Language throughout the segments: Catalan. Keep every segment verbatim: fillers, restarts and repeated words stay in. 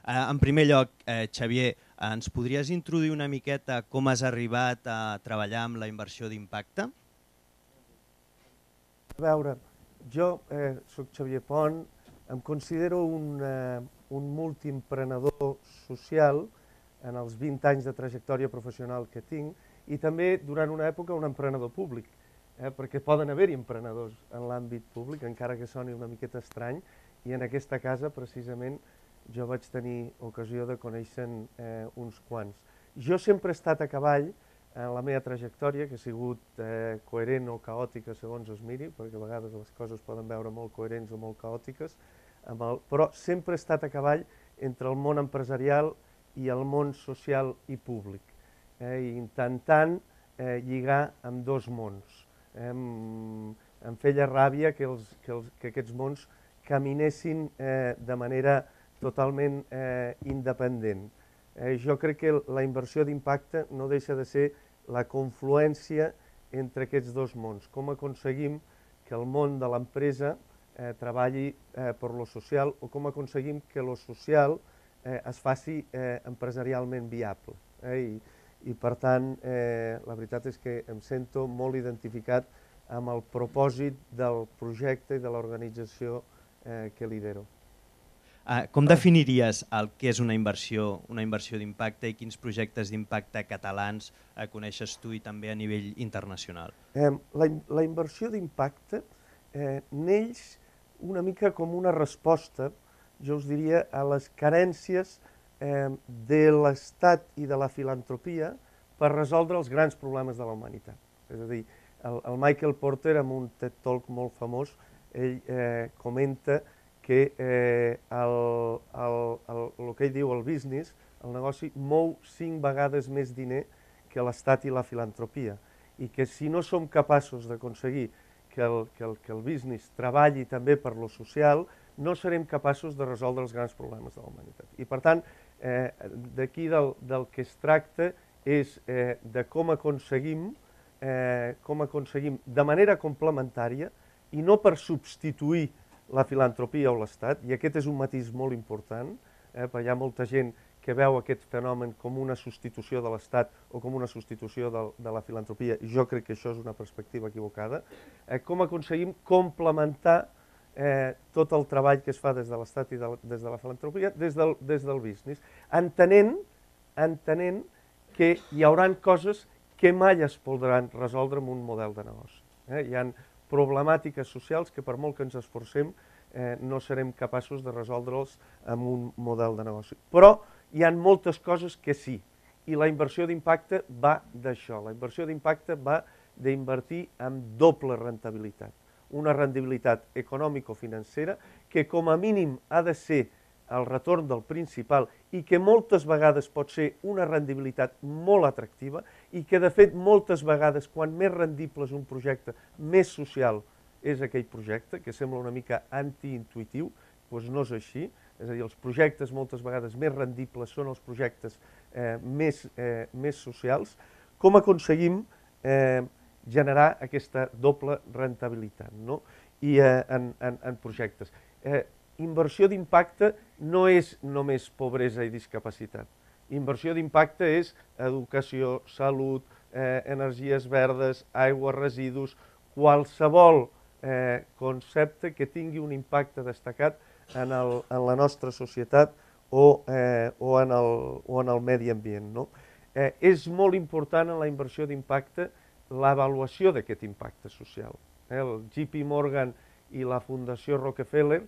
En primer lloc, Xavier, ens podries introduir una miqueta com has arribat a treballar amb la inversió d'impacte? A veure, jo eh, soc Xavier Pont, em considero un, eh, un multiemprenedor social en els vint anys de trajectòria professional que tinc i també durant una època un emprenedor públic, eh, perquè poden haver-hi emprenedors en l'àmbit públic, encara que soni una miqueta estrany, i en aquesta casa precisament jo vaig tenir ocasió de conèixer eh, uns quants. Jo sempre he estat a cavall en la meva trajectòria, que ha sigut eh, coherent o caòtica segons es miri, perquè a vegades les coses poden veure molt coherents o molt caòtiques, amb el, però sempre he estat a cavall entre el món empresarial i el món social i públic, eh, intentant eh, lligar amb dos mons. Eh, em, em feia ràbia que, els, que, els, que aquests mons caminessin eh, de manera totalment eh, independent. Eh, jo crec que la inversió d'impacte no deixa de ser la confluència entre aquests dos mons. Com aconseguim que el món de l'empresa eh, treballi eh, per lo social o com aconseguim que lo social eh, es faci eh, empresarialment viable. Eh? I, I per tant, eh, la veritat és que em sento molt identificat amb el propòsit del projecte i de l'organització eh, que lidero. Uh, com definiries el que és una inversió, una inversió d'impacte i quins projectes d'impacte catalans uh, coneixes tu i també a nivell internacional? Eh, la, la inversió d'impacte eh, neix una mica com una resposta, jo us diria, a les carències eh, de l'Estat i de la filantropia per resoldre els grans problemes de la humanitat. És a dir, el, el Michael Porter, en un TED Talk molt famós, ell eh, comenta que eh, el, el, el, el que ell diu, el business, el negoci, mou cinc vegades més diner que l'Estat i la filantropia. I que si no som capaços d'aconseguir que, el, que, el, que el business treballi també per lo social, no serem capaços de resoldre els grans problemes de la humanitat. I per tant, eh, d'aquí del, del que es tracta és eh, de com aconseguim, eh, com aconseguim de manera complementària i no per substituir la filantropia o l'Estat, i aquest és un matís molt important, eh, perquè hi ha molta gent que veu aquest fenomen com una substitució de l'Estat o com una substitució de, de la filantropia, i jo crec que això és una perspectiva equivocada. Eh, com aconseguim complementar eh, tot el treball que es fa des de l'Estat i de, des de la filantropia, des del, des del business, entenent, entenent que hi haurà coses que mai es podran resoldre amb un model de negoci. Eh? Hi ha problemàtiques socials que per molt que ens esforcem eh, no serem capaços de resoldre'ls amb un model de negoci. Però hi ha moltes coses que sí, i la inversió d'impacte va d'això. La inversió d'impacte va d'invertir amb doble rendibilitat. Una rendibilitat econòmico-financera que com a mínim ha de ser el retorn del principal i que moltes vegades pot ser una rendibilitat molt atractiva i que de fet moltes vegades quan més rendible és un projecte, més social és aquell projecte, que sembla una mica antiintuitiu, doncs no és així. És a dir, els projectes moltes vegades més rendibles són els projectes eh, més, eh, més socials. Com aconseguim eh, generar aquesta doble rentabilitat, no? I eh, en, en, en projectes. Eh, Inversió d'impacte no és només pobresa i discapacitat. Inversió d'impacte és educació, salut, eh, energies verdes, aigua, residus, qualsevol eh, concepte que tingui un impacte destacat en, el, en la nostra societat o, eh, o, en, el, o en el medi ambient. No? Eh, és molt important en la inversió d'impacte l'avaluació d'aquest impacte social. Eh, el J P Morgan i la Fundació Rockefeller,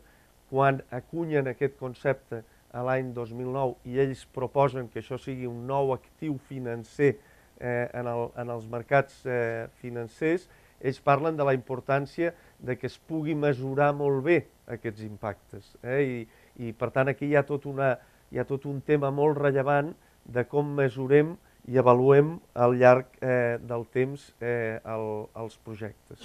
quan acunyen aquest concepte a l'any dos mil nou i ells proposen que això sigui un nou actiu financer eh, en, el, en els mercats eh, financers, ells parlen de la importància de que es pugui mesurar molt bé aquests impactes. Eh? I, I per tant aquí hi ha, tot una, hi ha tot un tema molt rellevant de com mesurem i avaluem al llarg eh, del temps eh, el, els projectes.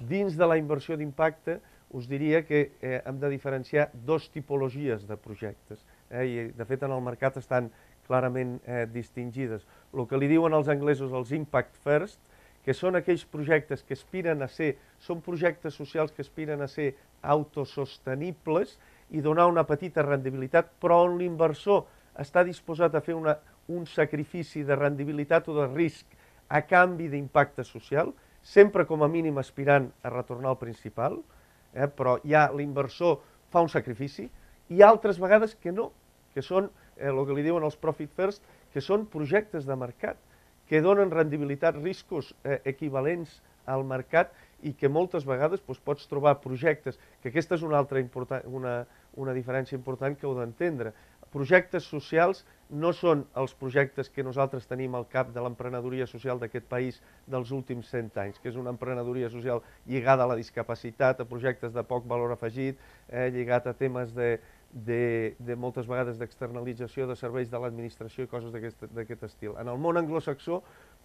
Dins de la inversió d'impacte us diria que eh, hem de diferenciar dos tipologies de projectes. Eh, I de fet en el mercat estan clarament eh, distingides. El que li diuen els anglesos els impact first, que són aquells projectes que aspiren a ser, són projectes socials que aspiren a ser autosostenibles i donar una petita rendibilitat, però on l'inversor està disposat a fer una, un sacrifici de rendibilitat o de risc a canvi d'impacte social, sempre com a mínim aspirant a retornar al principal, eh, però ja l'inversor fa un sacrifici, i altres vegades que no, que són eh, el que li diuen els profit first, que són projectes de mercat, que donen rendibilitat, riscos eh, equivalents al mercat i que moltes vegades doncs, pots trobar projectes, que aquesta és una altra important, una, una diferència important que heu d'entendre. Projectes socials no són els projectes que nosaltres tenim al cap de l'emprenedoria social d'aquest país dels últims cent anys, que és una emprenedoria social lligada a la discapacitat, a projectes de poc valor afegit, eh, lligat a temes de, de, de moltes vegades d'externalització de serveis de l'administració i coses d'aquest estil. En el món anglosaxó,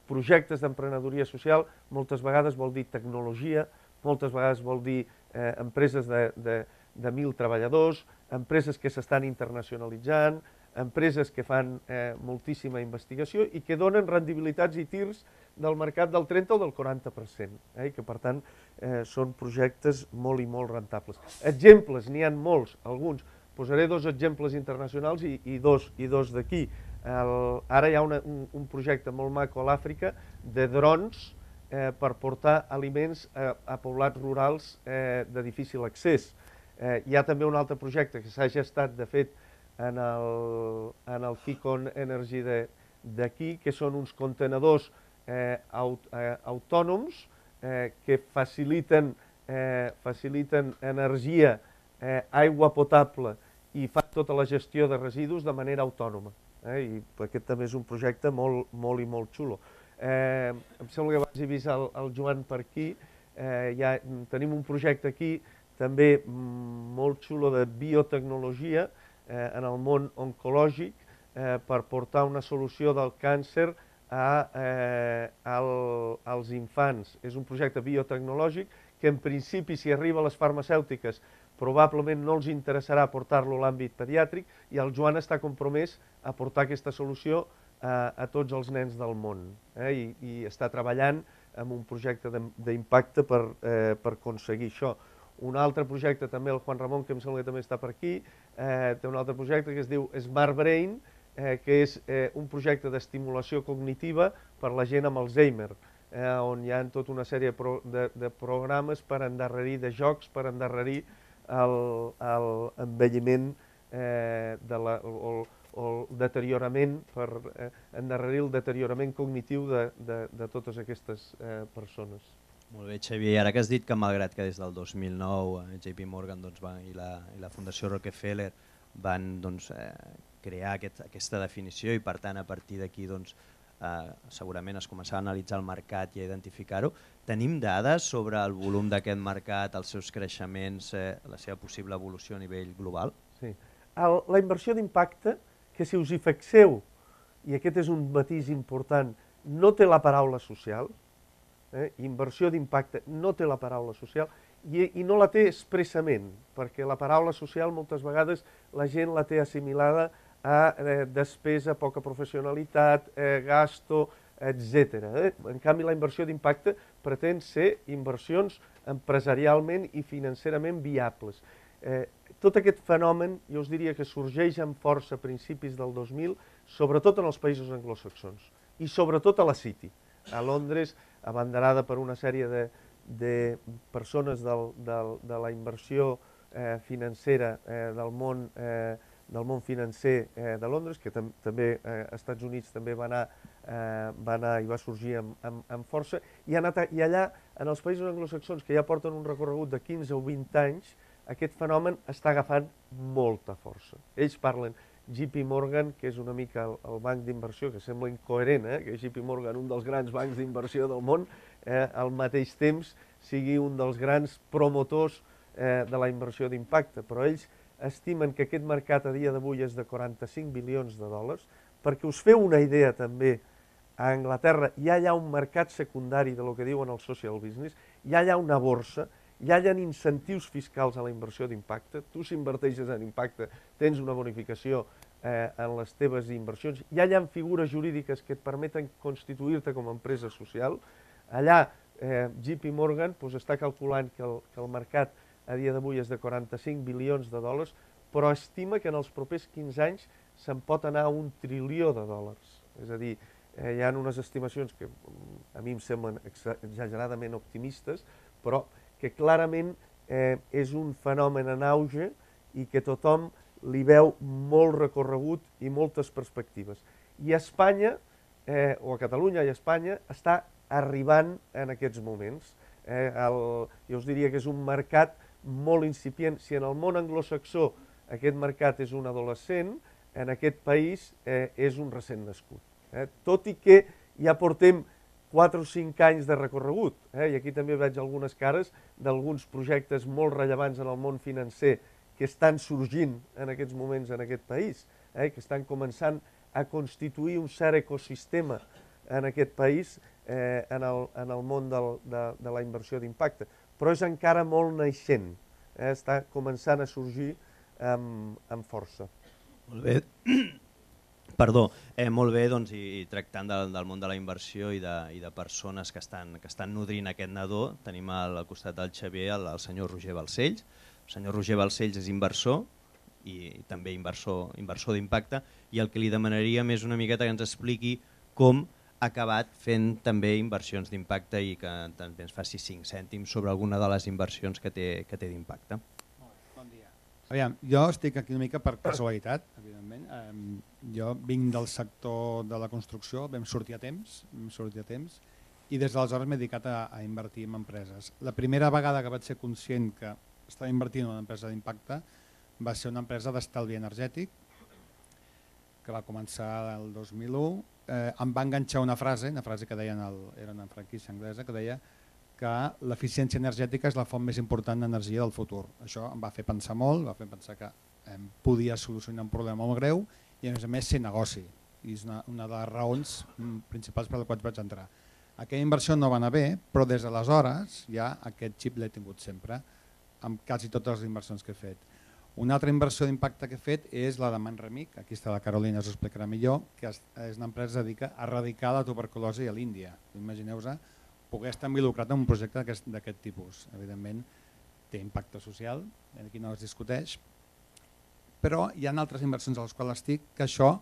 projectes d'emprenedoria social moltes vegades vol dir tecnologia, moltes vegades vol dir eh, empreses de, de, de mil treballadors, empreses que s'estan internacionalitzant, empreses que fan eh, moltíssima investigació i que donen rendibilitats i tirs del mercat del trenta o del quaranta per cent, eh, i que per tant eh, són projectes molt i molt rentables. Exemples, n'hi ha molts, alguns. Posaré dos exemples internacionals i, i dos, i dos d'aquí. Ara hi ha una, un, un projecte molt maco a l'Àfrica de drons eh, per portar aliments a, a poblats rurals eh, de difícil accés. Eh, hi ha també un altre projecte que s'ha gestat, de fet, en el, en el Kikon Energy d'aquí, que són uns contenedors eh, aut, eh, autònoms eh, que faciliten, eh, faciliten energia, eh, aigua potable i fan tota la gestió de residus de manera autònoma. Eh, I aquest també és un projecte molt, molt i molt xulo. Eh, em sembla que abans he vist el, el Joan per aquí. Eh, ja tenim un projecte aquí també molt xulo de biotecnologia eh, en el món oncològic eh, per portar una solució del càncer a, eh, al, als infants. És un projecte biotecnològic que en principi, si arriba a les farmacèutiques, probablement no els interessarà portar-lo a l'àmbit pediàtric, i el Joan està compromès a portar aquesta solució a, a tots els nens del món, eh? I, i està treballant en un projecte d'impacte per, eh, per aconseguir això. Un altre projecte també, el Juan Ramon, que em sembla que també està per aquí, eh, té un altre projecte que es diu Smart Brain, eh, que és eh, un projecte d'estimulació cognitiva per la gent amb Alzheimer, eh, on hi ha tota una sèrie de, pro, de, de programes per endarrerir, de jocs per endarrerir l'envelliment eh, de la, o, o el deteriorament, per eh, endarrerir el deteriorament cognitiu de, de, de totes aquestes eh, persones. Molt bé, Xavier. I ara que has dit que malgrat que des del dos mil nou eh, J P Morgan doncs, va, i, la, i la Fundació Rockefeller van doncs, eh, crear aquest, aquesta definició i per tant a partir d'aquí doncs, eh, segurament es començava a analitzar el mercat i a identificar-ho, tenim dades sobre el volum d'aquest mercat, els seus creixements, eh, la seva possible evolució a nivell global? Sí. El, la inversió d'impacte, que si us hi fixeu, i aquest és un matís important, no té la paraula social, eh? Inversió d'impacte no té la paraula social, i, i no la té expressament, perquè la paraula social moltes vegades la gent la té assimilada a eh, despesa, poca professionalitat, eh, gasto, etcètera. Eh? En canvi, la inversió d'impacte pretén ser inversions empresarialment i financerament viables. Eh, tot aquest fenomen, jo us diria que sorgeix amb força a principis del dos mil, sobretot en els països anglosaxons, i sobretot a la City, a Londres, abanderada per una sèrie de, de persones del, del, de la inversió eh, financera eh, del món eh, del món financer eh, de Londres, que tam també eh, als Estats Units també va anar, eh, va anar i va sorgir amb, amb, amb força, i, anat a, i allà, en els països anglosaxons, que ja porten un recorregut de quinze o vint anys, aquest fenomen està agafant molta força. Ells parlen J P Morgan, que és una mica el, el banc d'inversió, que sembla incoherent, eh? que J P Morgan, un dels grans bancs d'inversió del món, eh, al mateix temps sigui un dels grans promotors eh, de la inversió d'impacte, però ells estimen que aquest mercat a dia d'avui és de quaranta-cinc bilions de dòlars. Perquè us feu una idea també, a Anglaterra ja hi ha un mercat secundari de lo que diuen el social business, ja hi ha una borsa, ja hi ha incentius fiscals a la inversió d'impacte. Tu, si inverteixes en impacte, tens una bonificació eh, en les teves inversions. Ja hi ha figures jurídiques que et permeten constituir-te com a empresa social. Allà, eh, J P Morgan pues, està calculant que el, que el mercat a dia d'avui és de quaranta-cinc bilions de dòlars, però estima que en els propers quinze anys se'n pot anar a un trilió de dòlars. És a dir, eh, hi ha unes estimacions que a mi em semblen exageradament optimistes, però que clarament eh, és un fenomen en auge i que tothom li veu molt recorregut i moltes perspectives. I a Espanya, eh, o a Catalunya i a Espanya, està arribant en aquests moments. Eh, el, jo us diria que és un mercat molt incipient. Si en el món anglosaxó aquest mercat és un adolescent, en aquest país eh, és un recent nascut. Eh? Tot i que ja portem quatre o cinc anys de recorregut, eh? I aquí també veig algunes cares d'alguns projectes molt rellevants en el món financer que estan sorgint en aquests moments en aquest país, eh? Que estan començant a constituir un cert ecosistema en aquest país eh, en, el, en el món del, de, de la inversió d'impacte. Però és encara molt naixent, eh? Està començant a sorgir amb, amb força. Molt bé. Perdó, eh, molt bé, doncs, i, i tractant del, del món de la inversió i de, i de persones que estan, que estan nodrint aquest nadó, tenim al, al costat del Xavier el, el senyor Roger Balcells. El senyor Roger Balcells és inversor i també inversor, inversor d'impacte, i el que li demanaríem és una miqueta que ens expliqui com ha acabat fent també inversions d'impacte i que també ens faci cinc cèntims sobre alguna de les inversions que té, que té d'impacte. Bon dia. Aviam, jo estic aquí una mica per casualitat, evidentment. Eh, jo vinc del sector de la construcció, vam sortir a temps, vam sortir a temps i des d'aleshores m'he dedicat a, a invertir en empreses. La primera vegada que vaig ser conscient que estava invertint en una empresa d'impacte va ser una empresa d'estalvi energètic que va començar el dos mil u. Eh, em va enganxar una frase, una frase que deien, el, era una franquícia anglesa, que deia que l'eficiència energètica és la font més important d'energia del futur. Això em va fer pensar molt, va fer pensar que eh, podia solucionar un problema molt greu i a més a més ser negoci. I és una, una de les raons principals per les quals vaig entrar. Aquella inversió no va anar bé, però des d'aleshores ja aquest xip l'he tingut sempre, amb quasi totes les inversions que he fet. Una altra inversió d'impacte que he fet és la de Manremic, aquí està la Carolina, us ho explicarà millor, que és una empresa que es dedica a erradicar la tuberculosi a l'Índia. Imagineu-vos poder estar involucrat en un projecte d'aquest tipus. Evidentment té impacte social, aquí no es discuteix, però hi ha altres inversions a les quals estic que això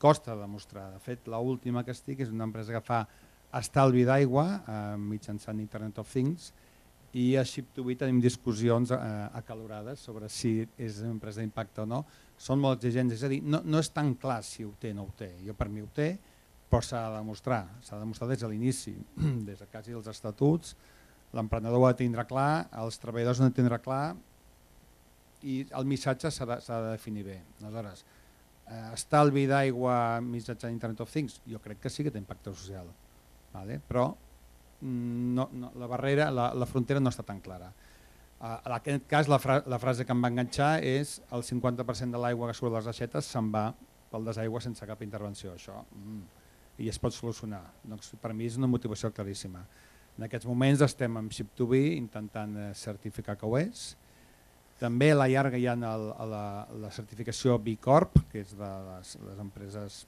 costa demostrar. De fet, l'última que estic és una empresa que fa estalvi d'aigua eh, mitjançant Internet of Things, i a Ship to Be tenim discussions eh, acalorades sobre si és una empresa d'impacte o no. Són molt exigents, és a dir, no, no és tan clar si ho té o no ho té. Jo per mi ho té, però s'ha de demostrar, s'ha de demostrar des de l'inici, des de quasi els estatuts, l'emprenedor ho ha de tindre clar, els treballadors ho han de tindre clar i el missatge s'ha de, de definir bé. Aleshores, eh, estalvi d'aigua mitjançant Internet of Things, jo crec que sí que té impacte social, vale? Però No, no, la barrera, la, la frontera no està tan clara. Uh, en aquest cas la, fra la frase que em va enganxar és el cinquanta per cent de l'aigua que surt de les aixetes se'n va pel desaigua sense cap intervenció. Això, mm, i es pot solucionar. Doncs, per mi és una motivació claríssima. En aquests moments estem amb Ship to Be intentant eh, certificar que ho és. També a la llarga hi ha el, la, la certificació B Corp, que és de les, les empreses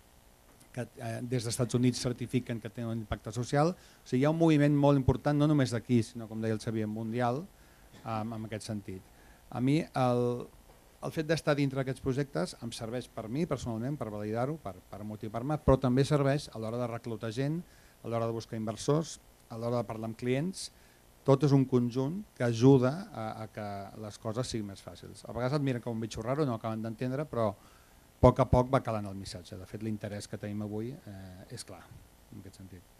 que eh, des dels Estats Units certifiquen que tenen un impacte social. O sigui, hi ha un moviment molt important, no només d'aquí, sinó, com deia el Xavier, mundial, eh, en aquest sentit. A mi, el, el fet d'estar dintre d'aquests projectes em serveix per mi, personalment, per validar-ho, per, per motivar-me, però també serveix a l'hora de reclutar gent, a l'hora de buscar inversors, a l'hora de parlar amb clients. Tot és un conjunt que ajuda a, a que les coses siguin més fàcils. A vegades et miren com un bitxo raro, no acaben d'entendre, però a poc a poc va calant el missatge. De fet, l'interès que tenim avui eh, és clar, en aquest sentit.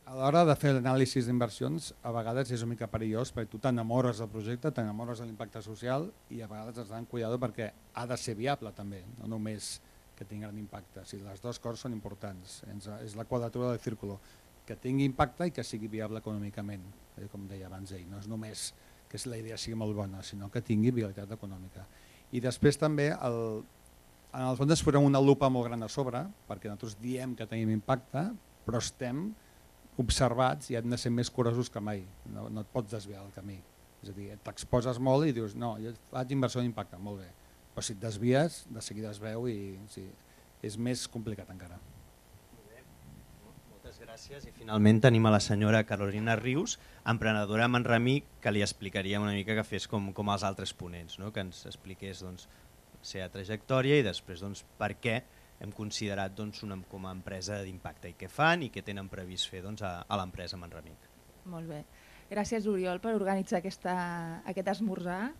A l'hora de fer l'anàlisi d'inversions, a vegades és una mica perillós perquè tu t'enamores del projecte, t'enamores de l'impacte social i a vegades has d'anar amb cuidado perquè ha de ser viable també, no només que tingui gran impacte. O sigui, les dues coses són importants, és la quadratura del círculo, que tingui impacte i que sigui viable econòmicament, com deia abans ell. No és només que la idea sigui molt bona, sinó que tingui viabilitat econòmica. I després també el en el fons ens posem una lupa molt gran a sobre, perquè nosaltres diem que tenim impacte, però estem observats i hem de ser més curosos que mai. No, no et pots desviar del camí. És a dir, t'exposes molt i dius, no, jo faig inversió d'impacte, molt bé. Però si et desvies, de seguida es veu i sí, és més complicat encara. Molt bé. Moltes gràcies. I finalment tenim a la senyora Carolina Rius, emprenedora a Manremic, que li explicaríem una mica que fes com, com els altres ponents, no? Que ens expliqués doncs, seva trajectòria i després doncs, per què hem considerat doncs, una, com a empresa d'impacte i què fan i què tenen previst fer doncs, a, a l'empresa Manremic. Molt bé. Gràcies, Oriol, per organitzar aquesta, aquest esmorzar.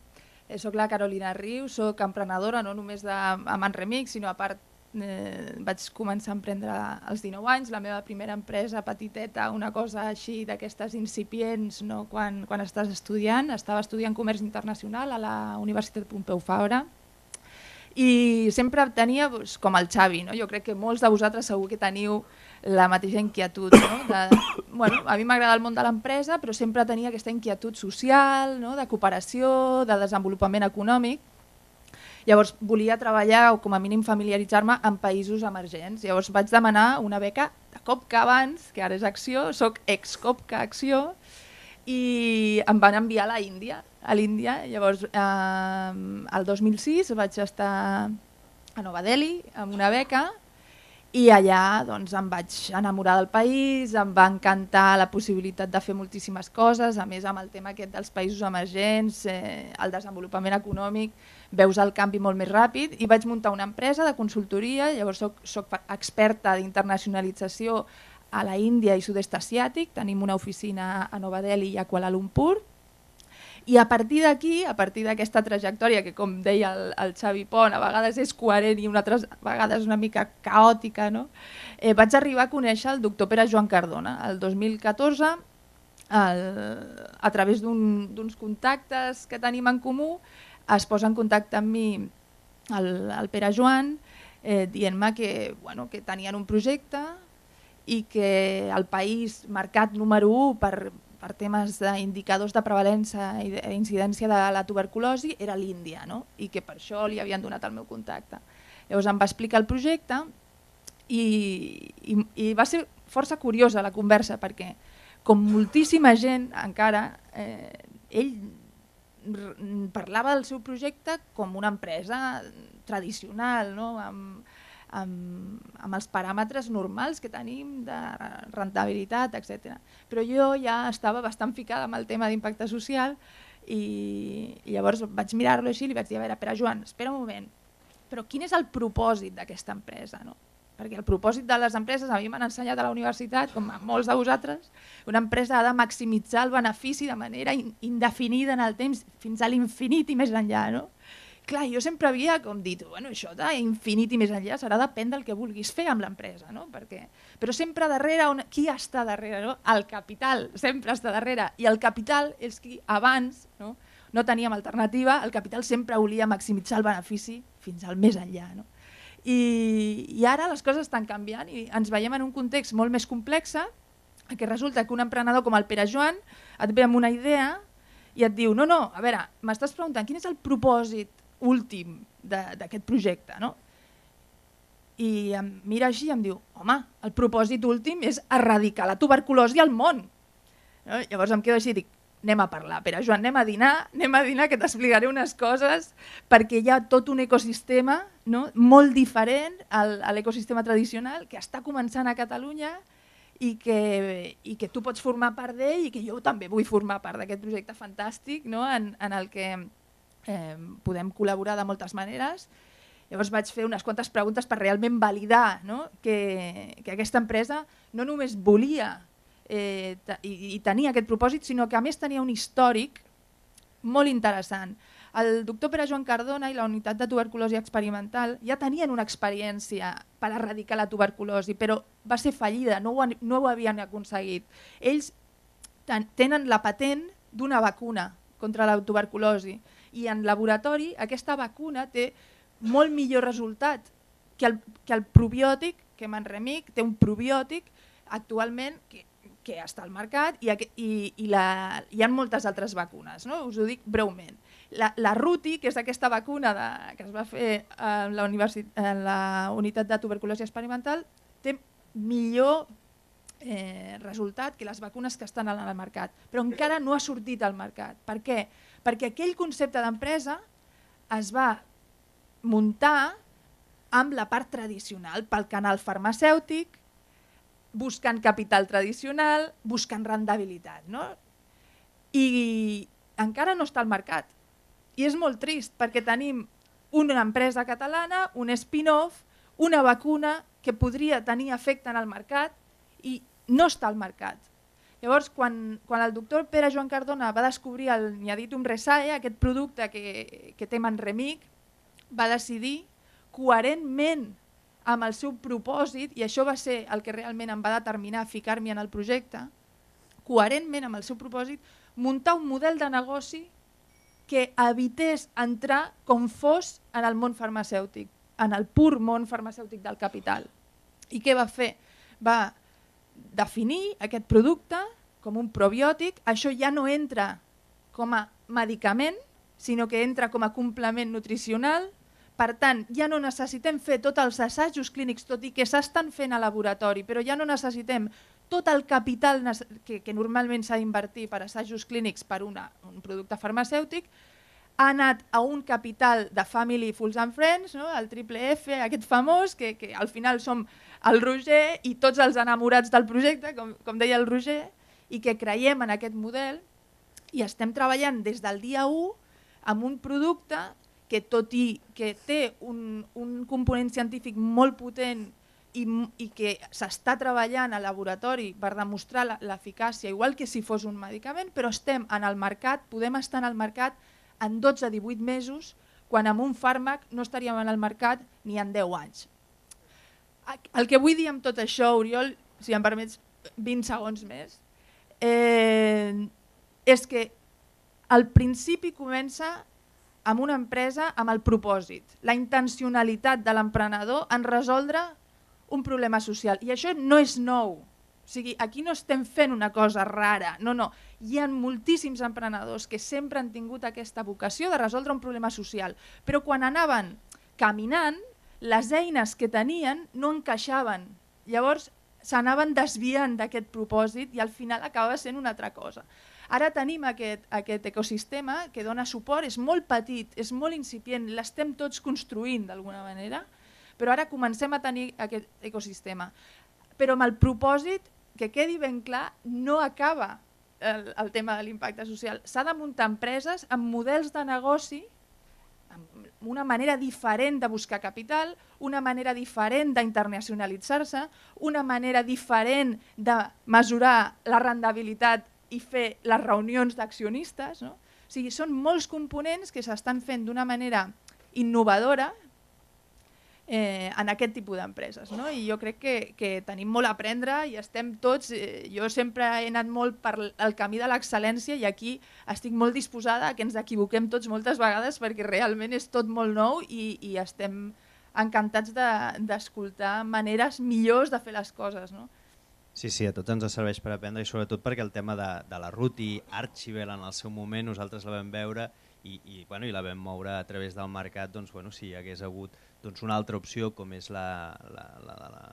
Eh, soc la Carolina Riu, soc emprenedora no només de a Manremic, sinó a part eh, vaig començar a emprendre als dinou anys, la meva primera empresa petiteta, una cosa així d'aquestes incipients no? quan, quan estàs estudiant. Estava estudiant comerç internacional a la Universitat Pompeu Fabra i sempre tenia doncs, com el Xavi, no? Jo crec que molts de vosaltres segur que teniu la mateixa inquietud. No? De, bueno, a mi m'agrada el món de l'empresa, però sempre tenia aquesta inquietud social, no? De cooperació, de desenvolupament econòmic. Llavors volia treballar o com a mínim familiaritzar-me en països emergents. Llavors vaig demanar una beca de Copca abans, que ara és Acció, soc ex-Copca Acció, i em van enviar a l'Índia. A l'Índia, llavors eh, el dos mil sis vaig estar a Nova Delhi amb una beca i allà doncs, em vaig enamorar del país, em va encantar la possibilitat de fer moltíssimes coses, a més amb el tema aquest dels països emergents, eh, el desenvolupament econòmic, veus el canvi molt més ràpid i vaig muntar una empresa de consultoria, llavors soc, soc experta d'internacionalització a la Índia i sud-est asiàtic, tenim una oficina a Nova Delhi i a Kuala Lumpur. I a partir d'aquí, a partir d'aquesta trajectòria que com deia el, el Xavi Pont, a vegades és coherent i altres vegades una mica caòtica, no? eh, vaig arribar a conèixer el doctor Pere Joan Cardona el dos mil catorze el, a través d'uns un, contactes que tenim en comú. Es posa en contacte amb mi el, el Pere Joan eh, dient-me que, bueno, que tenien un projecte i que el país marcat número u per per temes d'indicadors de prevalença i d'incidència de la tuberculosi era l'Índia, no? I que per això li havien donat el meu contacte. Llavors em va explicar el projecte i, i, i va ser força curiosa la conversa perquè com moltíssima gent encara, eh, ell parlava del seu projecte com una empresa tradicional, no? amb, amb, amb els paràmetres normals que tenim de rentabilitat, etcètera. Però jo ja estava bastant ficada amb el tema d'impacte social i, i llavors vaig mirar-lo així i li vaig dir, a veure, Pere Joan, espera un moment, però quin és el propòsit d'aquesta empresa? No? Perquè el propòsit de les empreses, a mi m'han ensenyat a la universitat, com a molts de vosaltres, una empresa ha de maximitzar el benefici de manera in, indefinida en el temps fins a l'infinit i més enllà, no? Clar, jo sempre havia com dit, bueno, això d'infinit i més enllà serà depèn del que vulguis fer amb l'empresa, no? Perquè, però sempre darrere, on, qui està darrere? No? El capital sempre està darrere i el capital és qui abans no, no teníem alternativa, el capital sempre volia maximitzar el benefici fins al més enllà. No? I, I ara les coses estan canviant i ens veiem en un context molt més complex que resulta que un emprenedor com el Pere Joan et ve amb una idea i et diu, no, no, a veure, m'estàs preguntant quin és el propòsit últim d'aquest projecte, no? I em mira així i em diu, home, el propòsit últim és erradicar la tuberculosi al món. No? Llavors em quedo així i dic, anem a parlar, Pere Joan, anem a dinar, anem a dinar que t'explicaré unes coses perquè hi ha tot un ecosistema no? molt diferent al, a l'ecosistema tradicional que està començant a Catalunya i que, i que tu pots formar part d'ell i que jo també vull formar part d'aquest projecte fantàstic no? en, en el que Eh, podem col·laborar de moltes maneres. Llavors vaig fer unes quantes preguntes per realment validar no? que, que aquesta empresa no només volia eh, i, i tenia aquest propòsit, sinó que a més tenia un històric molt interessant. El doctor Pere Joan Cardona i la unitat de tuberculosi experimental ja tenien una experiència per erradicar la tuberculosi, però va ser fallida, no ho, no ho havien aconseguit. Ells ten, tenen la patent d'una vacuna contra la tuberculosi i en laboratori aquesta vacuna té molt millor resultat que el, que el probiòtic, que Manremic té un probiòtic actualment que, que està al mercat i, i, i la, hi ha moltes altres vacunes, no? Us ho dic breument. La, la Ruti, que és aquesta vacuna de, que es va fer a la, en la unitat de tuberculosi experimental, té millor eh, resultat que les vacunes que estan al mercat, però encara no ha sortit al mercat. Per què? Perquè aquell concepte d'empresa es va muntar amb la part tradicional, pel canal farmacèutic, buscant capital tradicional, buscant rendibilitat. No? I encara no està al mercat. I és molt trist perquè tenim una empresa catalana, un spin-off, una vacuna que podria tenir efecte en el mercat i no està al mercat. Llavors, quan, quan el doctor Pere Joan Cardona va descobrir el Niaditum Resae, aquest producte que, que té Manremic, va decidir, coherentment amb el seu propòsit, i això va ser el que realment em va determinar ficar-m'hi en el projecte, coherentment amb el seu propòsit, muntar un model de negoci que evités entrar com fos en el món farmacèutic, en el pur món farmacèutic del capital. I què va fer? Va definir aquest producte com un probiòtic, això ja no entra com a medicament, sinó que entra com a complement nutricional. Per tant, ja no necessitem fer tots els assajos clínics, tot i que s'estan fent a laboratori, però ja no necessitem tot el capital que, que normalment s'ha d'invertir per assajos clínics per una, un producte farmacèutic. Ha anat a un capital de Family, Fools and Friends, no? El triple F, aquest famós, que, que al final som el Roger i tots els enamorats del projecte, com, com deia el Roger, i que creiem en aquest model i estem treballant des del dia u amb un producte que tot i que té un, un component científic molt potent i, i que s'està treballant al laboratori per demostrar l'eficàcia, igual que si fos un medicament, però estem en el mercat, podem estar en el mercat en dotze a divuit mesos, quan amb un fàrmac no estaríem en el mercat ni en deu anys. El que vull dir amb tot això, Oriol, si em permets vint segons més, eh, és que el principi comença amb una empresa amb el propòsit, la intencionalitat de l'emprenedor en resoldre un problema social. I això no és nou. O sigui, aquí no estem fent una cosa rara, no, no. Hi ha moltíssims emprenedors que sempre han tingut aquesta vocació de resoldre un problema social, però quan anaven caminant, les eines que tenien no encaixaven. Llavors s'anaven desviant d'aquest propòsit i al final acaba sent una altra cosa. Ara tenim aquest, aquest ecosistema que dona suport, és molt petit, és molt incipient, l'estem tots construint d'alguna manera, però ara comencem a tenir aquest ecosistema. Però amb el propòsit, que quedi ben clar, no acaba el, el tema de l'impacte social. S'ha de muntar empreses amb models de negoci, amb una manera diferent de buscar capital, una manera diferent d'internacionalitzar-se, una manera diferent de mesurar la rendibilitat i fer les reunions d'accionistes. No? O sigui, són molts components que s'estan fent d'una manera innovadora eh, en aquest tipus d'empreses. No? I jo crec que, que tenim molt a aprendre i estem tots, eh, jo sempre he anat molt per el camí de l'excel·lència i aquí estic molt disposada a que ens equivoquem tots moltes vegades perquè realment és tot molt nou i, i estem encantats d'escoltar de, maneres millors de fer les coses. No? Sí, sí, a tots ens serveix per aprendre i sobretot perquè el tema de, de la Ruti, Archibel en el seu moment, nosaltres la vam veure i, i, bueno, i la vam moure a través del mercat, doncs, bueno, si hi hagués hagut doncs, una altra opció com és la, la, la, la, la,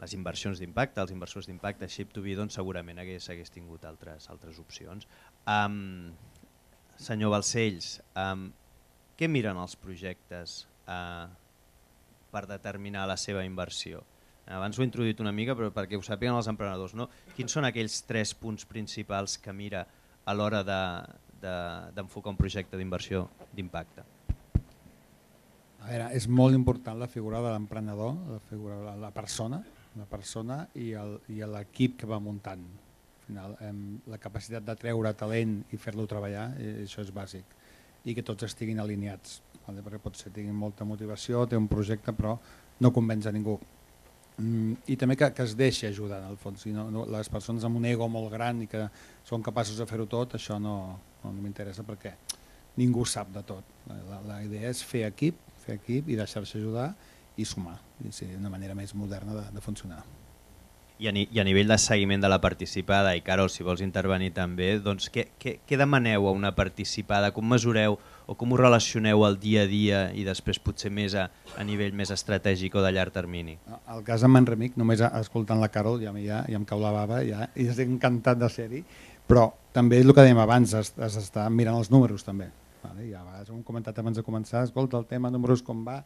les inversions d'impacte, els inversors d'impacte, Ship to Be, doncs segurament hagués, hagués tingut altres, altres opcions. Um, senyor Balcells, um, què miren els projectes uh, per determinar la seva inversió? Abans ho he introduït una mica, però perquè ho sàpiguen els emprenedors, no? Quins són aquells tres punts principals que mira a l'hora d'enfocar de, de, un projecte d'inversió d'impacte? A veure, és molt important la figura de l'emprenedor, la figura de la persona, la persona i l'equip que va muntant. Al final, eh, la capacitat de treure talent i fer-lo treballar, eh, això és bàsic. I que tots estiguin alineats, vale? Perquè potser tinguin molta motivació, té un projecte, però no convenç a ningú. Mm, I també que, que es deixi ajudar, en el fons. Si no, no, les persones amb un ego molt gran i que són capaços de fer-ho tot, això no, no, no m'interessa perquè ningú sap de tot. La, la, la idea és fer equip, fer equip i deixar-se ajudar i sumar, i ser una manera més moderna de, de funcionar. I a, ni, I a nivell de seguiment de la participada, i Carol, si vols intervenir també, doncs què, què, què demaneu a una participada, com mesureu o com ho relacioneu al dia a dia i després potser més a, a nivell més estratègic o de llarg termini? El cas amb Manremic, només escoltant la Carol ja, ja, ja em cau la bava ja, i estic encantat de ser-hi, però també és el que dèiem abans, has, has d'estar mirant els números també. Vale? Ja a vegades ho hem comentat abans de començar, escolta el tema números com va,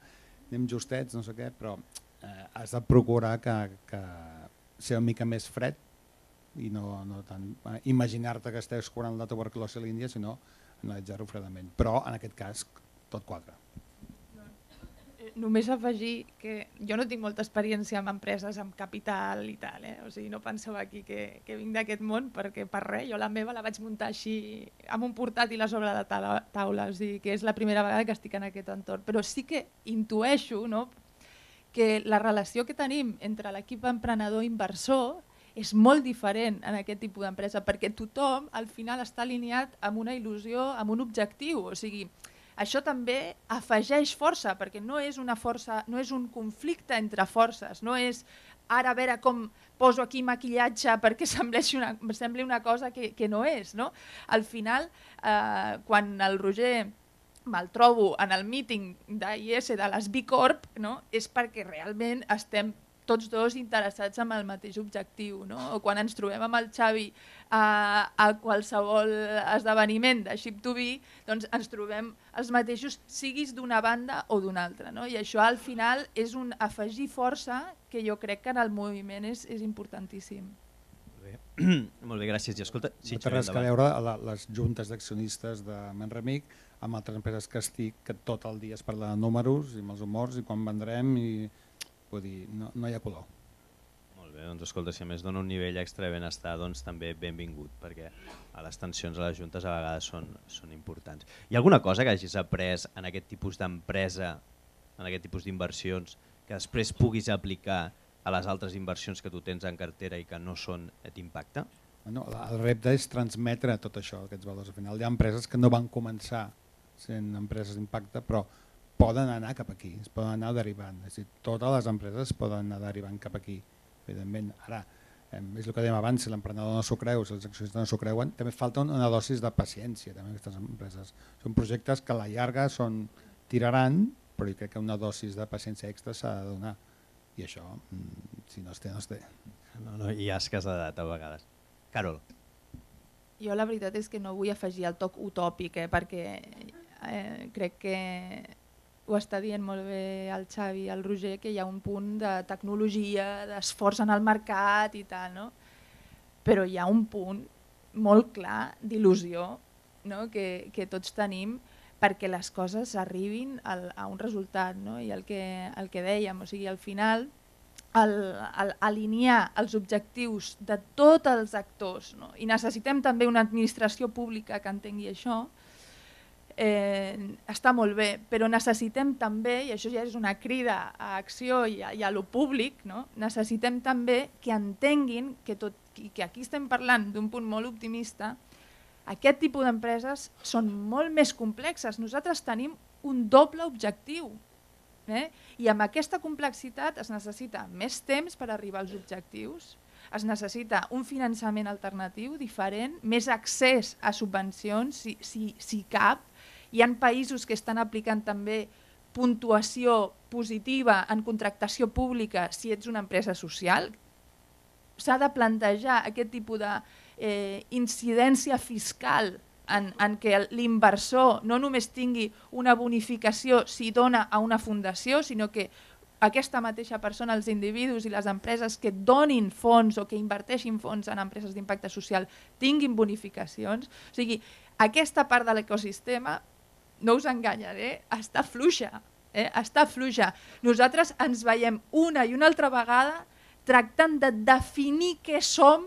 anem justets, no sé què, però eh, has de procurar que, que ser una mica més fred i no, no tant eh, imaginar-te que estàs curant la tuberculosi a l'Índia, sinó analitzar-ho fredament. Però en aquest cas tot quadra. només afegir que jo no tinc molta experiència amb empreses amb capital i tal, eh? O sigui, no penseu aquí que, que vinc d'aquest món, perquè per res, jo la meva la vaig muntar així amb un portàtil a sobre la taula, taula, o sigui, que és la primera vegada que estic en aquest entorn, però sí que intueixo, no?, que la relació que tenim entre l'equip emprenedor i inversor és molt diferent en aquest tipus d'empresa, perquè tothom al final està alineat amb una il·lusió, amb un objectiu. O sigui, això també afegeix força, perquè no és una força, no és un conflicte entre forces, no és ara a veure com poso aquí maquillatge perquè sembli una, sembli una cosa que, que no és. No? Al final, eh, quan el Roger me'l trobo en el míting d'I S de les B Corp, no? És perquè realment estem tots dos interessats en el mateix objectiu, no? O quan ens trobem amb el Xavi a, a qualsevol esdeveniment de Ship to Be, doncs ens trobem els mateixos, siguis d'una banda o d'una altra, no? I això al final és un afegir força que jo crec que en el moviment és, és importantíssim. Molt bé, molt bé, gràcies. I escolta, sí, no té res que veure a la, les juntes d'accionistes de Manremic amb altres empreses que estic, que tot el dia es parla de números i amb els humors i quan vendrem i vull dir, no, no hi ha color. Molt bé, doncs escolta, si a més dona un nivell extra de benestar, doncs també benvingut, perquè a les tensions a les juntes a vegades són, són importants. Hi ha alguna cosa que hagis après en aquest tipus d'empresa, en aquest tipus d'inversions, que després puguis aplicar a les altres inversions que tu tens en cartera i que no són d'impacte? Bueno, el repte és transmetre tot això, aquests valors. Al final hi ha empreses que no van començar sent empreses d'impacte, però poden anar cap aquí, es poden anar derivant. És a dir, totes les empreses poden anar derivant cap aquí. Evidentment, ara, és el que dèiem abans, si l'emprenedor no s'ho creu, si els accionistes no s'ho creuen, també falta una dosis de paciència també aquestes empreses. Són projectes que a la llarga són, tiraran, però jo crec que una dosis de paciència extra s'ha de donar. I això, si no es té, no es té. No, no, hi ha escàs d'edat a vegades. Carol. Jo la veritat és que no vull afegir el toc utòpic, eh, perquè eh, crec que ho està dient molt bé el Xavi i el Roger, que hi ha un punt de tecnologia, d'esforç en el mercat i tal, no? Però hi ha un punt molt clar d'il·lusió, no? que, que tots tenim perquè les coses arribin al, a un resultat, no? I el que, el que dèiem, o sigui, al final el, el, alinear els objectius de tots els actors, no? I necessitem també una administració pública que entengui això. Eh, està molt bé, però necessitem també, i això ja és una crida a acció i a, i a lo públic, no? Necessitem també que entenguin que, tot, i que aquí estem parlant d'un punt molt optimista, aquest tipus d'empreses són molt més complexes. Nosaltres tenim un doble objectiu, eh? I amb aquesta complexitat es necessita més temps per arribar als objectius, es necessita un finançament alternatiu diferent, més accés a subvencions, si, si, si cap. Hi ha països que estan aplicant també puntuació positiva en contractació pública si ets una empresa social. S'ha de plantejar aquest tipus d'incidència eh, fiscal en, en què l'inversor no només tingui una bonificació si dona a una fundació, sinó que aquesta mateixa persona, els individus i les empreses que donin fons o que inverteixin fons en empreses d'impacte social tinguin bonificacions. O sigui, aquesta part de l'ecosistema, no us enganyaré, està fluixa, eh? està fluixa. Nosaltres ens veiem una i una altra vegada tractant de definir què som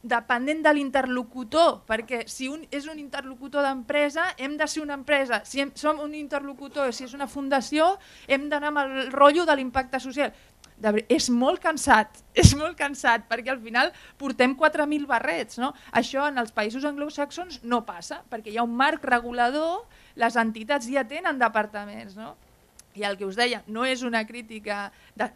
depenent de l'interlocutor, perquè si un és un interlocutor d'empresa, hem de ser una empresa. Si hem, som un interlocutor, si és una fundació, hem d'anar amb el rotllo de l'impacte social. De, és molt cansat, és molt cansat, perquè al final portem quatre mil barrets. No? Això en els països anglosaxons no passa, perquè hi ha un marc regulador, les entitats ja tenen departaments. No? I el que us deia, no és una crítica de,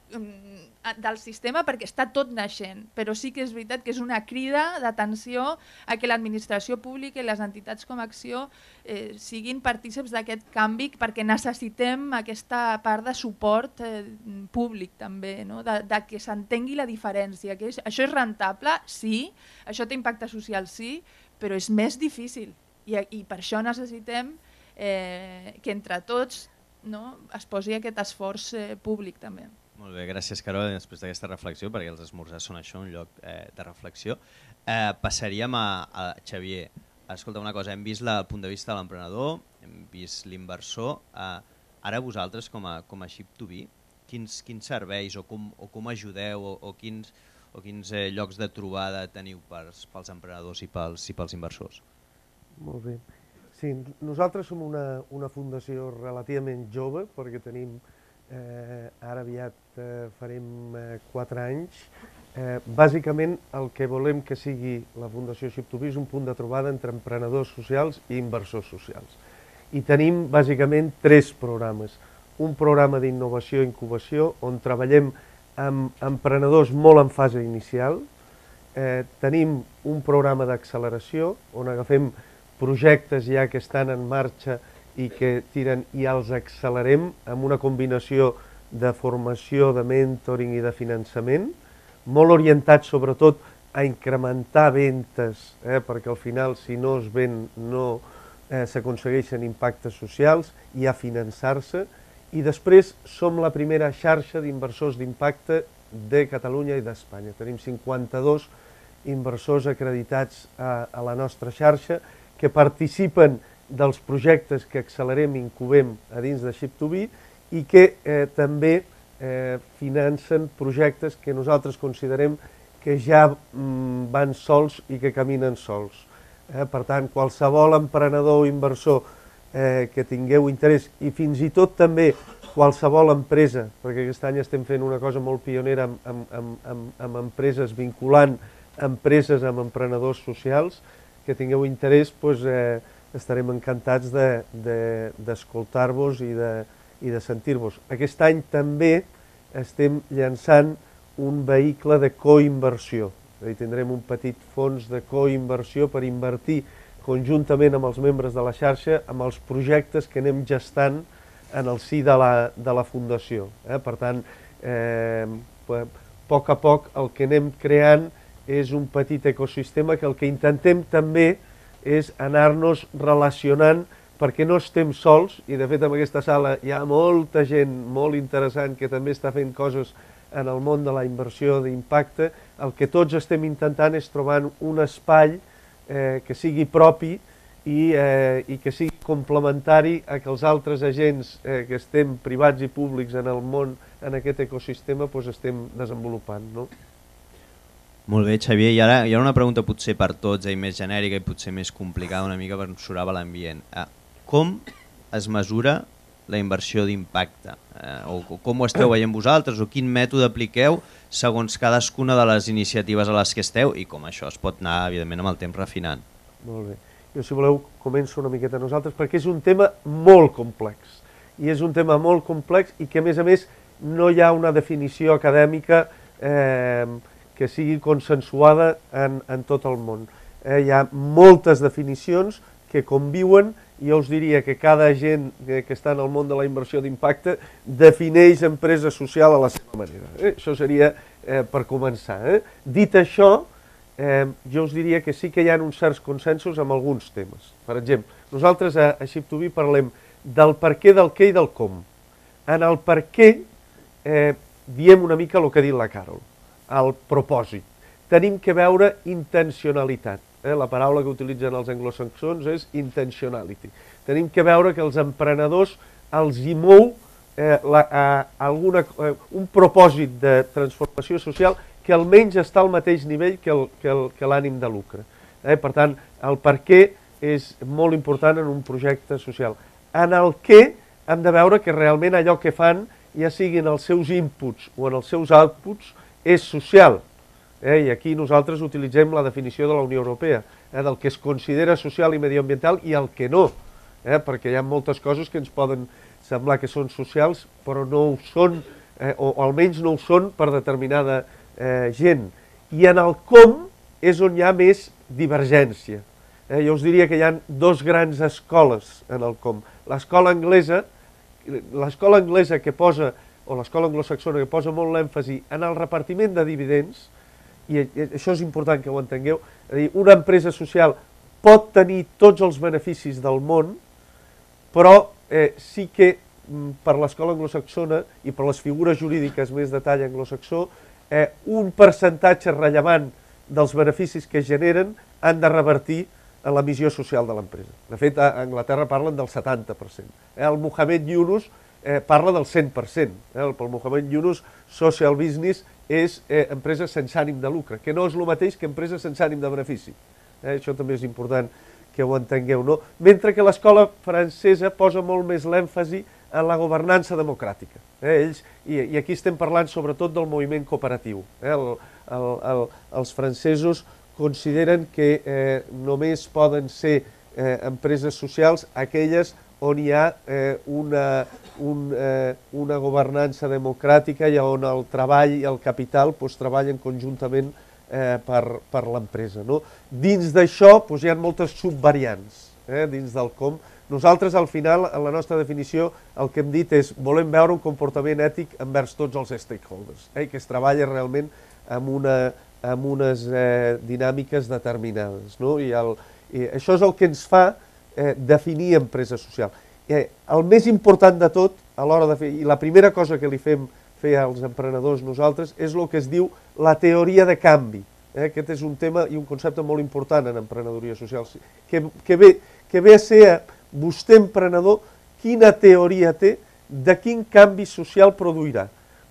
del sistema perquè està tot naixent, però sí que és veritat que és una crida d'atenció a que l'administració pública i les entitats com a Acció eh, siguin partícips d'aquest canvi, perquè necessitem aquesta part de suport eh, públic també, no? de, de que s'entengui la diferència. Que és, això és rentable? Sí. Això té impacte social? Sí. Però és més difícil i, i per això necessitem eh, que entre tots no, es posi aquest esforç eh, públic també. Molt bé, gràcies Carol, després d'aquesta reflexió, perquè els esmorzars són això, un lloc eh, de reflexió. Eh, passaríem a, a Xavier. Escolta una cosa, hem vist la, el punt de vista de l'emprenedor, hem vist l'inversor. Eh, ara vosaltres com a, com a Ship to Be, quins, quins serveis o com, o com ajudeu o, o quins, o quins eh, llocs de trobada teniu pels, pels emprenedors i pels, i pels inversors? Molt bé. Sí, nosaltres som una, una fundació relativament jove perquè tenim, eh, ara aviat eh, farem eh, quatre anys. Eh, bàsicament el que volem que sigui la Fundació Ship to Be és un punt de trobada entre emprenedors socials i inversors socials. I tenim bàsicament tres programes. Un programa d'innovació i incubació on treballem amb emprenedors molt en fase inicial. Eh, tenim un programa d'acceleració on agafem projectes ja que estan en marxa i que tiren i els accelerem amb una combinació de formació, de mentoring i de finançament, molt orientat sobretot a incrementar ventes, eh, perquè al final si no es ven no eh, s'aconsegueixen impactes socials i a finançar-se. I després som la primera xarxa d'inversors d'impacte de Catalunya i d'Espanya. Tenim cinquanta-dos inversors acreditats a, a la nostra xarxa que participen dels projectes que accelerem i incubem a dins de Ship to Be i que eh, també eh, financen projectes que nosaltres considerem que ja mm, van sols i que caminen sols. Eh, per tant, qualsevol emprenedor o inversor eh, que tingueu interès i fins i tot també qualsevol empresa, perquè aquest any estem fent una cosa molt pionera amb, amb, amb, amb, amb empreses, vinculant empreses amb emprenedors socials, que tingueu interès, doncs, eh, estarem encantats d'escoltar-vos de, de, i de, i de sentir-vos. Aquest any també estem llançant un vehicle de coinversió. És a dir, tindrem un petit fons de coinversió per invertir conjuntament amb els membres de la xarxa amb els projectes que anem gestant en el si de la, de la fundació. Eh? Per tant, eh, a poc a poc el que anem creant és un petit ecosistema que el que intentem també és anar-nos relacionant perquè no estem sols, i de fet en aquesta sala hi ha molta gent molt interessant que també està fent coses en el món de la inversió d'impacte. El que tots estem intentant és trobar un espai eh, que sigui propi i, eh, i que sigui complementari a que els altres agents eh, que estem privats i públics en el món, en aquest ecosistema, doncs estem desenvolupant, no? Molt bé, Xavier, i ara hi ha una pregunta potser per tots, i més genèrica i potser més complicada una mica per mesurar l'ambient. Eh, com es mesura la inversió d'impacte? Eh, o, o com ho esteu veient vosaltres, o quin mètode apliqueu segons cadascuna de les iniciatives a les que esteu i com això es pot anar, evidentment, amb el temps refinant? Molt bé. Jo, si voleu, començo una miqueta nosaltres, perquè és un tema molt complex. I és un tema molt complex i que, a més a més, no hi ha una definició acadèmica eh, que sigui consensuada en, en tot el món. Eh, hi ha moltes definicions que conviuen i jo us diria que cada agent que, que està en el món de la inversió d'impacte defineix empresa social a la seva manera. Eh? Això seria eh, per començar. Eh? Dit això, eh, jo us diria que sí que hi ha uns certs consensos amb alguns temes. Per exemple, nosaltres a, a Ship to Be parlem del per què, del què i del com. En el per què eh, diem una mica el que ha dit la Carol, el propòsit. Tenim que veure intencionalitat. Eh? La paraula que utilitzen els anglosaxons és intentionality. Tenim que veure que els emprenedors els hi mou eh, la, a, alguna, eh, un propòsit de transformació social que almenys està al mateix nivell que l'ànim de lucre. Eh? Per tant, el per què és molt important en un projecte social. En el què hem de veure que realment allò que fan, ja siguin els seus inputs o en els seus outputs, és social. Eh? I aquí nosaltres utilitzem la definició de la Unió Europea, eh? del que es considera social i mediambiental i el que no, eh? perquè hi ha moltes coses que ens poden semblar que són socials, però no ho són, eh? o, o almenys no ho són per determinada eh, gent. I en el com és on hi ha més divergència. Eh? Jo us diria que hi ha dos grans escoles en el com. L'escola anglesa, l'escola anglesa que posa o l'escola anglosaxona que posa molt l'èmfasi en el repartiment de dividends, i això és important que ho entengueu, és a dir, una empresa social pot tenir tots els beneficis del món, però eh, sí que per l'escola anglosaxona i per les figures jurídiques més de tall anglosaxó, eh, un percentatge rellevant dels beneficis que generen han de revertir en la missió social de l'empresa. De fet, a Anglaterra parlen del setanta per cent. Eh, el Mohamed Yunus eh, parla del cent per cent. Eh? Pel Mohamed Yunus, social business és eh, empresa sense ànim de lucre, que no és el mateix que empresa sense ànim de benefici. Eh? Això també és important que ho entengueu, no? Mentre que l'escola francesa posa molt més l'èmfasi en la governança democràtica. Eh? Ells, i, I aquí estem parlant sobretot del moviment cooperatiu. Eh? El, el, el, els francesos consideren que eh, només poden ser eh, empreses socials aquelles on hi ha eh, una, un, eh, una governança democràtica i on el treball i el capital pues, treballen conjuntament eh, per, per l'empresa. No? Dins d'això pues, hi ha moltes subvariants, eh, dins del com. Nosaltres, al final, en la nostra definició, el que hem dit és volem veure un comportament ètic envers tots els stakeholders, eh, que es treballa realment amb, una, amb unes eh, dinàmiques determinades. No? I, el, I això és el que ens fa eh, definir empresa social. Eh, el més important de tot, a l'hora de fer, i la primera cosa que li fem fer als emprenedors nosaltres, és el que es diu la teoria de canvi. Eh? Aquest és un tema i un concepte molt important en emprenedoria social, que, que, ve, que ve a ser vostè, emprenedor, quina teoria té de quin canvi social produirà.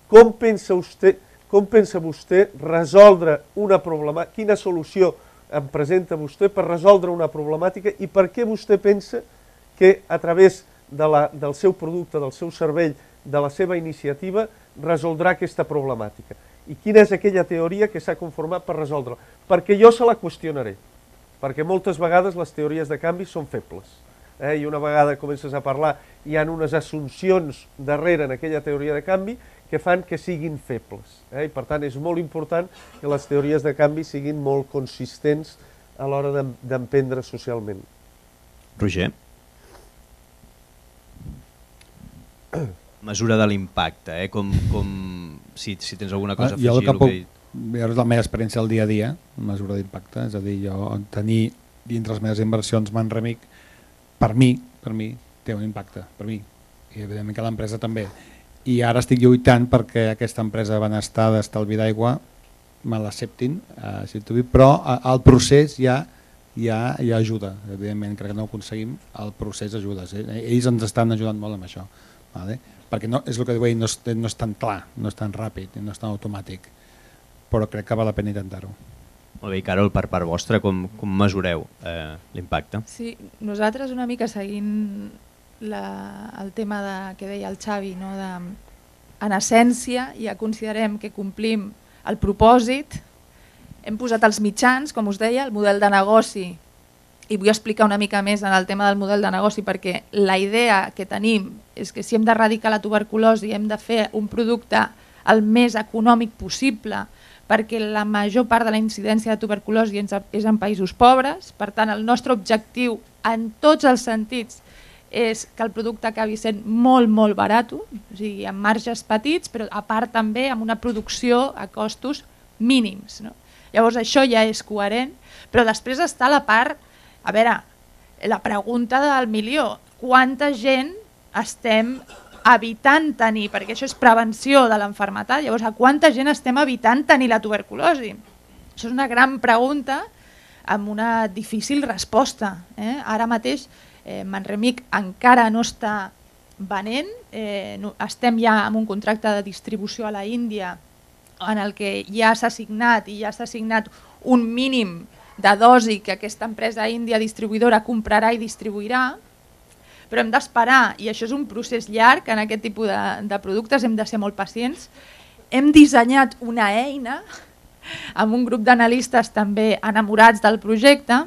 Com pensa vostè, com pensa vostè resoldre una problemàtica, quina solució em presenta vostè per resoldre una problemàtica i per què vostè pensa que a través de la, del seu producte, del seu servei, de la seva iniciativa, resoldrà aquesta problemàtica. I quina és aquella teoria que s'ha conformat per resoldre-la? Perquè jo se la qüestionaré, perquè moltes vegades les teories de canvi són febles. Eh, I una vegada comences a parlar, hi ha unes assumpcions darrere en aquella teoria de canvi que fan que siguin febles. Eh? I per tant és molt important que les teories de canvi siguin molt consistents a l'hora d'emprendre socialment. Roger? Mesura de l'impacte, eh? com, com, si, si tens alguna cosa a afegir. Jo el que puc veure és la meva experiència al dia a dia, mesura d'impacte, és a dir, jo tenir dintre les meves inversions Manremic, per mi, per mi, té un impacte, per mi, i evidentment que l'empresa també. I ara estic lluitant perquè aquesta empresa benestar d'estalvi d'aigua me l'acceptin, eh, però el procés ja, ja, ja ajuda, evidentment, crec que no ho aconseguim, el procés ajuda, eh? Ells ens estan ajudant molt amb això, vale? Perquè no, és el que diu, no és, no és tan clar, no és tan ràpid, no és tan automàtic, però crec que val la pena intentar-ho. Molt bé, i Carol, per part vostra, com, com mesureu eh, l'impacte? Sí, nosaltres una mica seguint la, el tema de, que deia el Xavi, no? De, en essència ja considerem que complim el propòsit, hem posat els mitjans, com us deia, el model de negoci, i vull explicar una mica més en el tema del model de negoci perquè la idea que tenim és que si hem d'erradicar la tuberculosi hem de fer un producte el més econòmic possible perquè la major part de la incidència de tuberculosi és en països pobres, per tant el nostre objectiu en tots els sentits és que el producte acabi sent molt molt barat, o sigui, amb marges petits, però a part també amb una producció a costos mínims. No? Llavors això ja és coherent, però després està la part, a veure, la pregunta del milió, quanta gent estem evitant tenir, perquè això és prevenció de l'enfermetat, llavors a quanta gent estem evitant tenir la tuberculosi? Això és una gran pregunta amb una difícil resposta. Eh? Ara mateix eh, Manremic encara no està venent, eh, no, estem ja amb un contracte de distribució a la Índia en el que ja s'ha signat i ja s'ha signat un mínim de dosi que aquesta empresa índia distribuïdora comprarà i distribuirà, però hem d'esperar, i això és un procés llarg en aquest tipus de, de productes, hem de ser molt pacients. Hem dissenyat una eina amb un grup d'analistes també enamorats del projecte,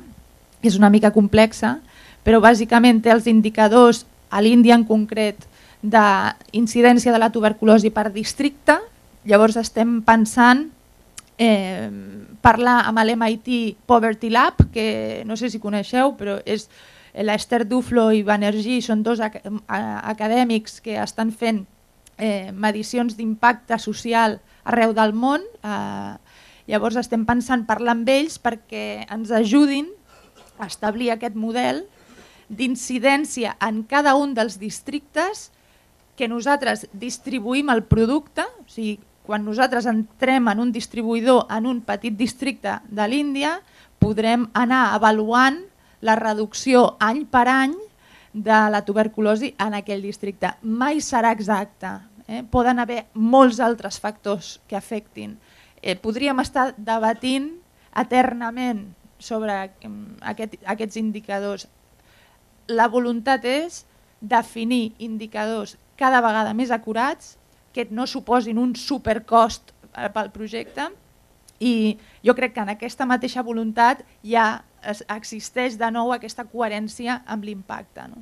és una mica complexa, però bàsicament té els indicadors, a l'Índia en concret, d'incidència de la tuberculosi per districte. Llavors estem pensant eh, parlar amb l'M I T Poverty Lab, que no sé si coneixeu, però és l'Esther Duflo i Banerjee, són dos ac acadèmics que estan fent eh, medicions d'impacte social arreu del món. Eh, llavors estem pensant parlar amb ells perquè ens ajudin a establir aquest model d'incidència en cada un dels districtes que nosaltres distribuïm el producte, o sigui, quan nosaltres entrem en un distribuïdor en un petit districte de l'Índia, podrem anar avaluant la reducció any per any de la tuberculosi en aquell districte. Mai serà exacte. Eh? Poden haver molts altres factors que afectin. Eh, podríem estar debatint eternament sobre aquest, aquests indicadors. La voluntat és definir indicadors cada vegada més acurats que no suposin un supercost pel projecte, i jo crec que en aquesta mateixa voluntat ja existeix de nou aquesta coherència amb l'impacte. No?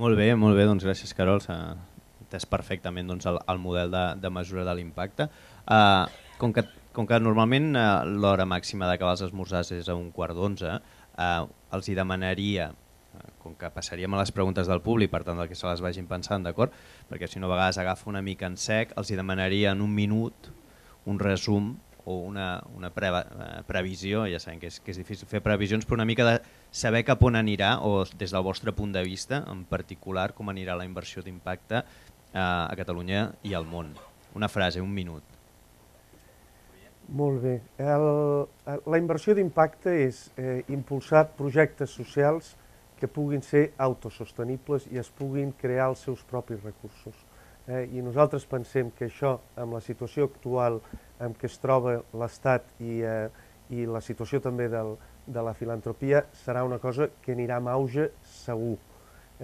Molt bé, molt bé, doncs gràcies Carol, s'ha entès perfectament doncs, el, el model de, de mesura de l'impacte. Uh, com, que, com que normalment uh, l'hora màxima d'acabar els esmorzars és a un quart d'onze, uh, els hi demanaria, com que passaríem a les preguntes del públic, per tant que se les vagin pensant, d'acord? Perquè si no a vegades agafa una mica en sec, els hi demanaria en un minut un resum o una, una pre, previsió, ja sabem que és, que és difícil fer previsions, però una mica de saber cap on anirà, o des del vostre punt de vista, en particular, com anirà la inversió d'impacte eh, a Catalunya i al món. Una frase, un minut. Molt bé. El, la inversió d'impacte és eh, impulsar projectes socials que puguin ser autosostenibles i es puguin crear els seus propis recursos. Eh, I nosaltres pensem que això, amb la situació actual en què es troba l'Estat i, eh, i la situació també del, de la filantropia, serà una cosa que anirà amb auge segur,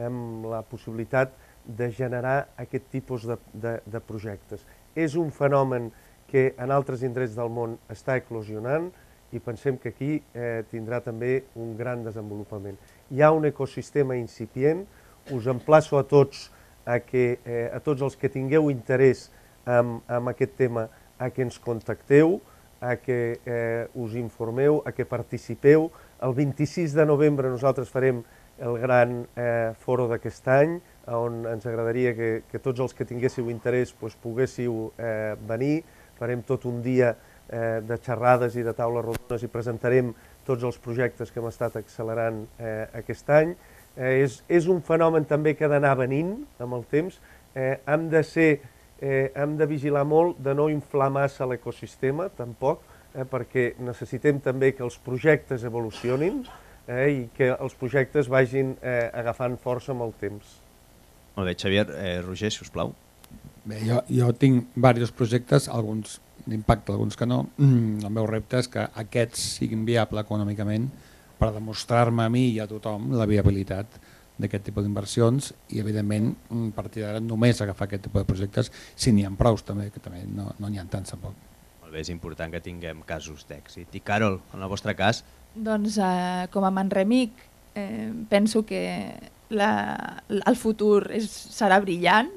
amb la possibilitat de generar aquest tipus de, de, de projectes. És un fenomen que en altres indrets del món està eclosionant i pensem que aquí eh, tindrà també un gran desenvolupament. Hi ha un ecosistema incipient, us emplaço a tots a, que, eh, a tots els que tingueu interès en, en aquest tema a que ens contacteu, a que eh, us informeu, a que participeu. El vint-i-sis de novembre nosaltres farem el gran eh, foro d'aquest any, on ens agradaria que, que tots els que tinguéssiu interès pues, poguéssiu eh, venir. Farem tot un dia eh, de xerrades i de taules rodones i presentarem tots els projectes que hem estat accelerant eh, aquest any. Eh, és, és un fenomen també que ha d'anar venint amb el temps. Eh, hem de ser, eh, hem de vigilar molt de no inflar massa l'ecosistema, tampoc, eh, perquè necessitem també que els projectes evolucionin eh, i que els projectes vagin eh, agafant força amb el temps. Molt bé, Xavier. Eh, Roger, si us plau. Bé, jo, jo tinc diversos projectes, alguns d'impacte, alguns que no. El meu repte és que aquests siguin viables econòmicament per demostrar-me a mi i a tothom la viabilitat d'aquest tipus d'inversions i, evidentment, a partir d'ara només agafar aquest tipus de projectes si n'hi ha prous, també, que també no n'hi ha tants tampoc. Molt bé, és important que tinguem casos d'èxit. I Carol, en el vostre cas? Doncs eh, com a Manremic eh, penso que la, el futur és, serà brillant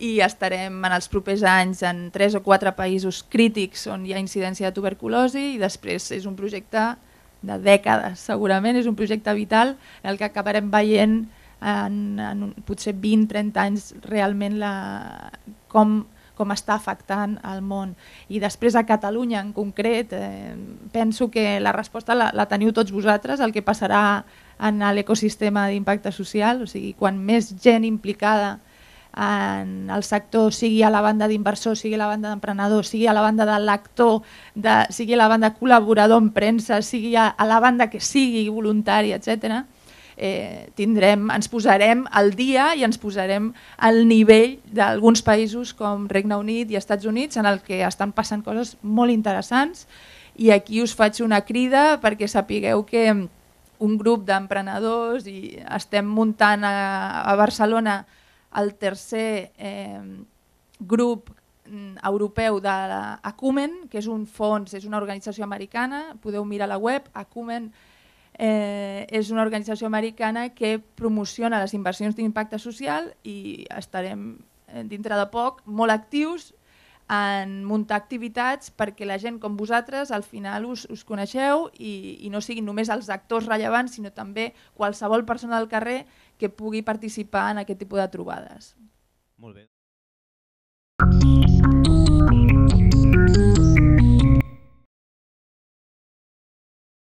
i estarem en els propers anys en tres o quatre països crítics on hi ha incidència de tuberculosi i després és un projecte de dècades, segurament és un projecte vital en el que acabarem veient en, en potser vint a trenta anys realment la, com, com està afectant el món. I després a Catalunya en concret eh, penso que la resposta la, la teniu tots vosaltres, el que passarà en l'ecosistema d'impacte social, o sigui, quan més gent implicada en el sector, sigui a la banda d'inversor, sigui a la banda d'emprenedor, sigui a la banda de lector, de, sigui a la banda col·laborador en premsa, sigui a, a la banda que sigui voluntari, etcètera, eh, tindrem, ens posarem al dia i ens posarem al nivell d'alguns països com Regne Unit i Estats Units en el que estan passant coses molt interessants i aquí us faig una crida perquè sapigueu que un grup d'emprenedors i estem muntant a, a Barcelona el tercer eh, grup europeu de l'Acumen, que és un fons, és una organització americana, podeu mirar la web, Acumen eh, és una organització americana que promociona les inversions d'impacte social i estarem dintre de poc molt actius en muntar activitats perquè la gent com vosaltres al final us, us coneixeu i, i no siguin només els actors rellevants sinó també qualsevol persona del carrer que pugui participar en aquest tipus de trobades. Molt bé.